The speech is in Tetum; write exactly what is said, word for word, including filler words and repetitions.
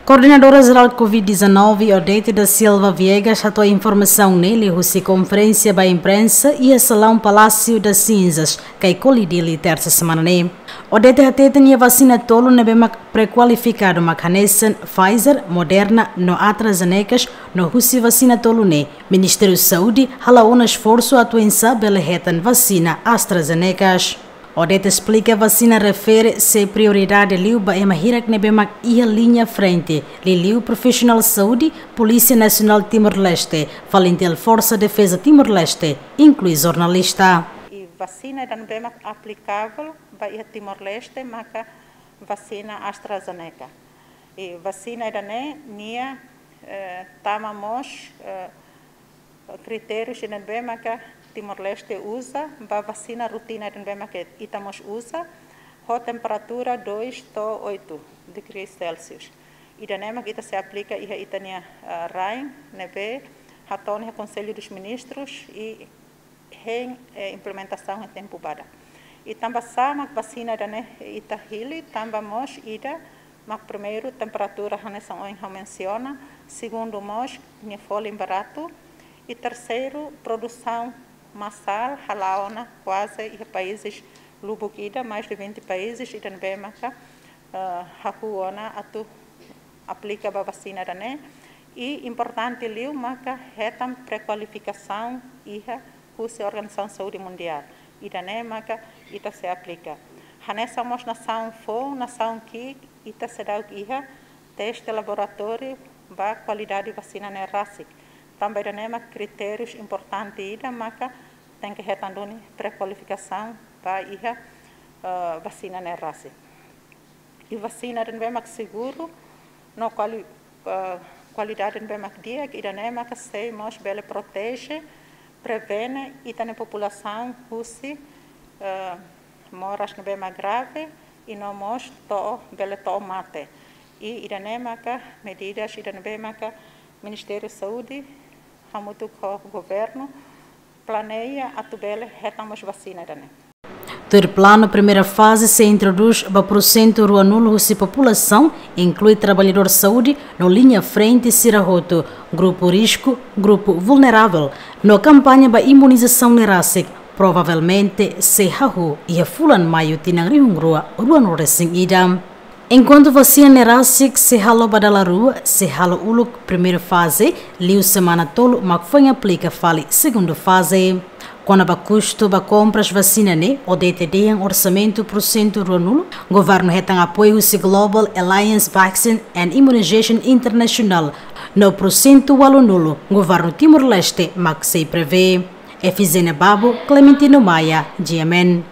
Koordenadora Jerál Covid dezanove, Odete da Silva Viegas, hato'o informasaun ne'e liuhusi konferénsia ba imprensa iha salaun Palácio das Cinzas, Caicoli, Dili, tersa semana ne'e. Odete hateten iha vasina tolu ne'ebé mak prekualifikadu mak hanesan Pfizer, Moderna no AstraZeneca, no husi vasina tolu ne'e Ministériu Saúde hala'o ona esforsu atu oinsá bele hetan vasina AstraZeneca. Odete esplika vasina refere sei prioridade liu ba ema hirak ne'ebé mak iha liña frente, liuliu profisionál saúde, Polísia Nasionál Timor-Leste, FALINTIL, Forsa Defeza Timor-Leste, inklui jornalista. I vasina ida ne'ebé mak aplikavel ba iha Timor-Leste maka vasina AstraZeneca. I vasina ida-ne'e nia, eh, tama mós, eh, kritériu ida ne'ebé maka Timor-Leste uza ba vasina rutina ida ne'ebé maka ita mós uza, ho temperatura dois to'o oito degrees Celsius. Ida-ne'e mak ita sei aplika iha ita-nia, eh, rain ne'ebé hato'o iha Conselho dos Ministros i hein, eh, implementasaun iha tempu badak. I tanba sá mak vasina ida-ne'e ita hili, tanba mós ida mak primeiru temperatura hanesan ohin ha'u mensiona, segundu mós nia folin baratu, i terseiru produsaun masál hala'o ona kuaze iha países lubuk ida, mais de vinte países ida ne'ebé maka, eh, hahú ona atu aplika ba vasina ida-ne'e. I importante liu maka hetan prekualifikasaun iha husi Organizasaun Saúde Mundiál. Ida-ne'e maka ita sei aplika. Hanesan mós nasaun foun, nasaun ki'ik, ita seidauk iha teste laboratóriu ba kualidade vasina ne'e rasik. Tanba ida-ne'e mak kritériu importante ida maka tenke hetan duni prekualifikasaun ba iha, eh, vasina ne'e rasik. I vasina ida ne'ebé mak seguru no kuali-, eh, kualidade ne'ebé mak di'ak, ida-ne'e maka sei mós bele proteje, prevene ita-nia populasaun husi, eh, moras ne'ebé mak grave i no mós to'o, bele to'o mate. I ida-ne'e maka medidas ida ne'ebé maka Ministériu Saúde hamutuk ho governu planeia atu bele hetan mós vasina ida-ne'e. Tuir planu, primeira faze sei introdús ba porsentu ruanulu husi populasaun, inklui traballadór saúde no liña frente sira hotu, grupu risku, grupu vulneravel, no kampaña ba imunizasaun ne'e rasik provavelmente sei hahú iha fulan Maiu tinan rihun rua ruanulu resin ida. Enkuantu vasina ne'e rasik sei halo ba dala rua, sei halo uluk primeira faze, liu semana tolu mak foin aplika fali segunda faze. Kona-ba kustu ba kompras vasina ne'e, Odete dehan orsamentu porsentu ruanulu, governu hetan apoiu husi Global Alliance Vaccine and Immunization International, no porsentu ualunulu, governu Timor-Leste mak sei prevee. Efizénia Babo, Clementino Maia, G M N.